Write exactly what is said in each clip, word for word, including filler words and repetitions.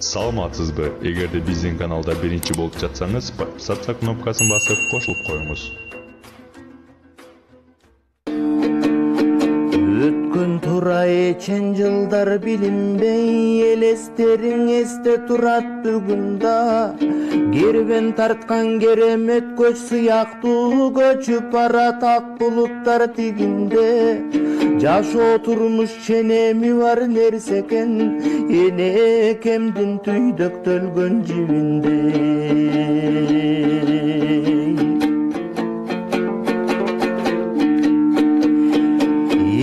Саламатсызбы? Эгерде биздин каналда биринчи болуп жатсаңыз, подписаться кнопкасын басып кошулуп коюңуз. Өткөн тура эчен жылдар билинбей, элестериң эсте турат бүгүн да. Кербен тарткан керемет көч сыяктуу көчүп барат ак булуттар тигинде. Жашоо турмуш ченеми бар нерсе экен, эне кемдин түйдөктөлгөн жибинде.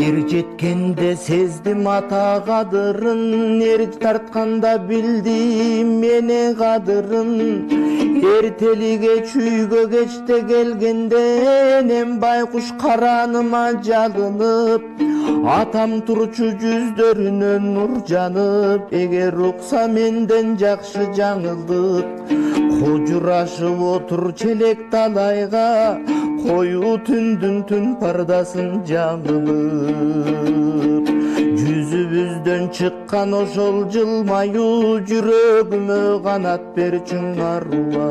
Эр жеткенде сездим ата кадырын, эр тартканда билдим мене кадырын. Эртелиге чүйгө кечте келгенде, энем байкуш караныма жалынып, атам турчу жүздөрүнөн нур жанып. Эгер укса менден жакшы жаңылдык, кожурашып отур челек талайга, коюу түндүн түн пардасын жамылып. Жүзүбүздөн чыккан ошол жылмаюу, жүрөгүмө канат берчүң аруа.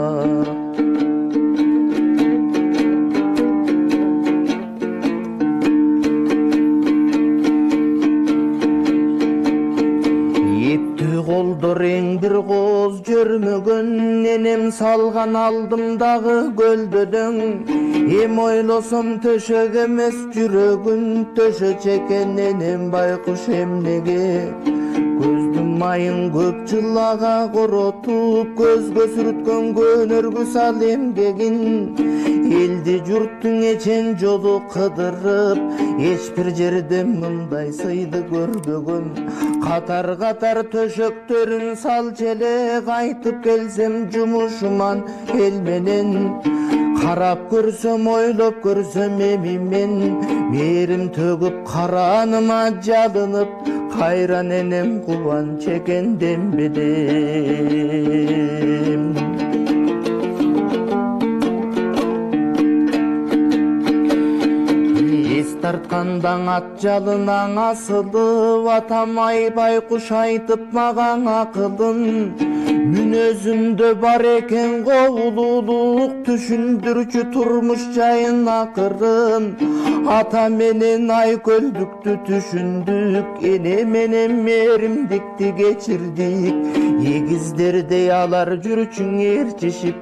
Колдор эң бир кооз көрмөгөн, энем салган алдымдагы көлдөдөң. Эм ойлосом төшөк эмес жүрөгүн, төшөч экен энем байкуш эмнеге. Көздүн майын көп жылага коротуп, көзгө сүрүткөн көнөргү сал эмгегин. Элди журттун эчен жолу кыдырып, эч бир жерде мындай сыйды көрбөгөм. Катар катар төшөктөрүн сал челе, кайтып келсем жумушуман эл менен. Карап көрсөм, ойлоп көрсөм эмимен, мээрим төгүп караныма жалынып, кайран энем кубан чекен дембедем. Эс тарткандаң ат жалынан асылып, атам ай байкуш айтып мага акылын. Мүнөзүмдө бар экен коулуулук, түшүндүрчү турмуш жайын акырын. Ата менен Айкөлдүктү түшүндүк, эне менен мээримдикти кечирдик. Эгиздердей алар жүрчүң ээрчишип,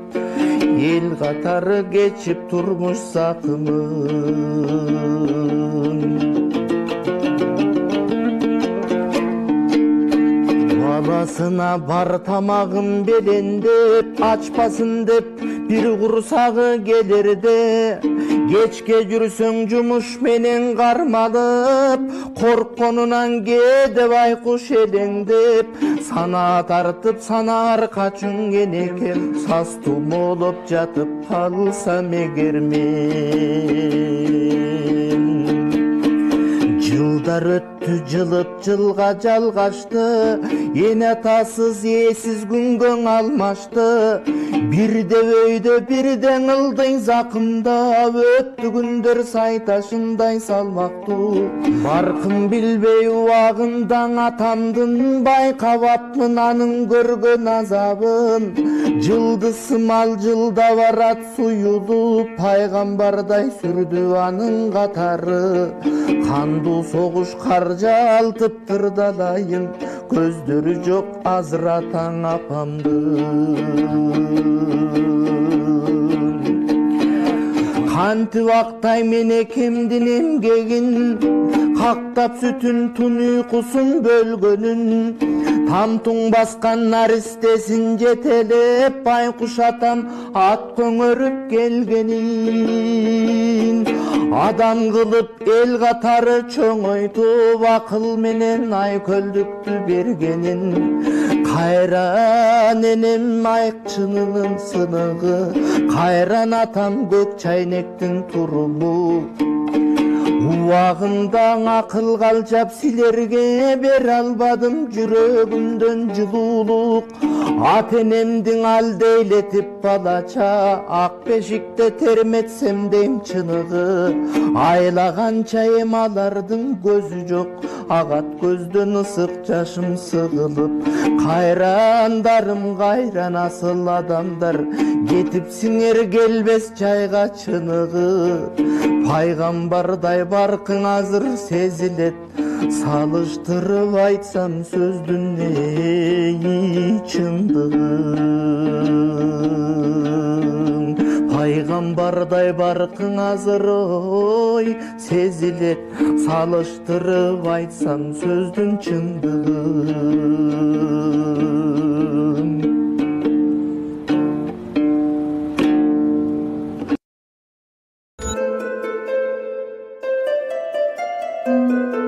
эл катары кечип турмуш сакымын. Баласына бар тамагын белендеп, ачпасын деп бир курсагы келерде. Кечке жүрсөң жумуш менен кармалып, коркконунан кээде байкуш элеңдеп. Сана тартып санаар качың энекем, саз тумоолоп жатып калсам эгер мен. Жылдар өттү, жылып жылга жалгашты, эне атасыз ээсиз күнгө алмашты. Бирде өйдө бирде ылдый закымда, өттү күндөр сайташындай салмактуу. Баркын билбей убагындан атамдын, байкабапмын анын көргөн азабын. Жылдысымал жылда барат суюлуп, пайгамбардай сүрдү анын катары. Кандуу согуш кар жалтып тырдалайын, көздөрү жок Азыратаң апамдын. Кантип актайм энекемдин эмгегин, кактап сүтүн тун уйкусун бөлгөнүн. Тамтуң баскан наристесин жетелеп, байкуш атам ат көңөрүп келгенин. Адам кылып эл катары чоңойтуп, акыл менен Айкөлдүктү бергенин. Кайран энем айкчынынын сыныгы, кайран атам көк чайнектин туруму. убагында акыл калчап силерге бере албадым жүрөгүмдөн жылуулук ата энемдин алделетип балача ак бешикте терметсем дейм чыныгы айлаганча эми алардын көзү жок агат көздөн ысык жашым сыгылып кайрандарым кайран асыл адамдар кетипсиңер келбес жайга чыныгы пайгамбардай баркың азыр сезилет салыштырып айтсам сөздүн эи чындыгын пайгамбардай баркың азыр ой сезилет салыштырып айтсам сөздүн чындыгын. Thank you.